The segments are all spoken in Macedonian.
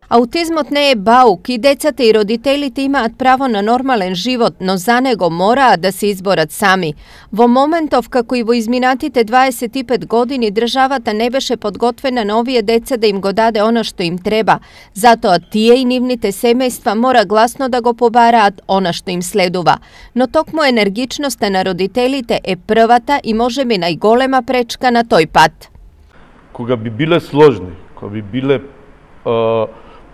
Аутизмот не е баук и децата и родителите имаат право на нормален живот, но за него мораат да се изборат сами. Во моментов, како и во изминатите 25 години, државата не беше подготвена на овие деца да им го даде она што им треба. Затоа тие и нивните семејства мора гласно да го побараат она што им следува. Но токму енергичноста на родителите е првата и можеби најголема пречка на тој пат. Кога би биле сложни, кога би биле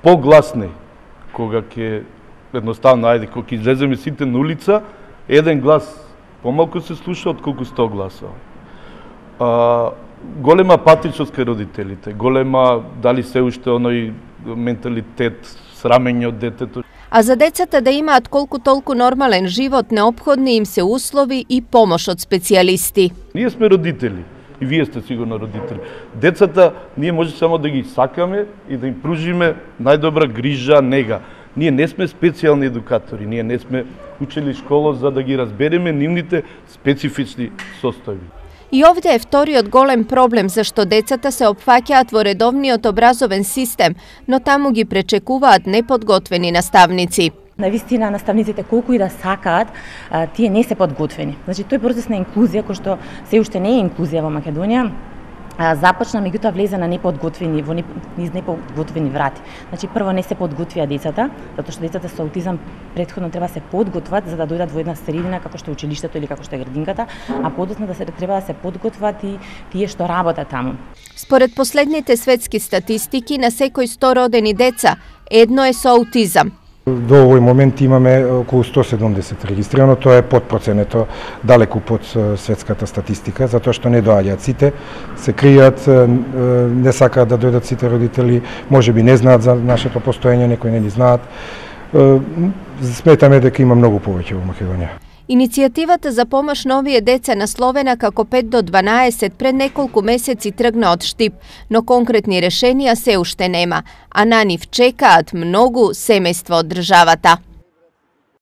погласни, кога ќе едноставно, кога ќе излеземе сите на улица, еден глас помалку се слуша отколку 100 гласови. Голема патичност кај родителите, голема дали се уште оној менталитет, срамење од детето. А за децата да имаат колку толку нормален живот, неопходни им се услови и помош од специјалисти. Ние сме родители. И вие сте сигурно родители. Децата, ние може само да ги сакаме и да им пружиме најдобра грижа, нега. Ние не сме специјални едукатори, ние не сме учели школа за да ги разбереме нивните специфични состојби. И овде е вториот голем проблем зашто децата се опфаќаат во редовниот образовен систем, но таму ги пречекуваат неподготвени наставници. Навистина, наставниците колку и да сакаат, тие не се подготвени. Значи, тој процес на инклузија, кој што се уште не е инклузија во Македонија, започна, меѓутоа влезе на неподготвени, низ неподготвени врати. Значи, прво не се подготвија децата, затоа што децата со аутизам претходно треба се подготват за да дојдат во една средина како што е училиштето или како што е градинката, а подоцна треба да се подготват и тие што работат таму. Според последните светски статистики, на секој 100 родени деца, едно е со аутизам. До овој момент имаме околу 170 регистрирано, тоа е под проценето, далеку под светската статистика, затоа што не доаѓаат сите, се кријат, не сакаат да дојдат сите родители, можеби не знаат за нашето постоење, некои не ни знаат. Сметаме дека има многу повеќе во Македонија. Иницијативата за помош на овие деца насловена како 5 до 12 пред неколку месеци тргна од Штип, но конкретни решенија се уште нема, а на нив чекаат многу семејства од државата.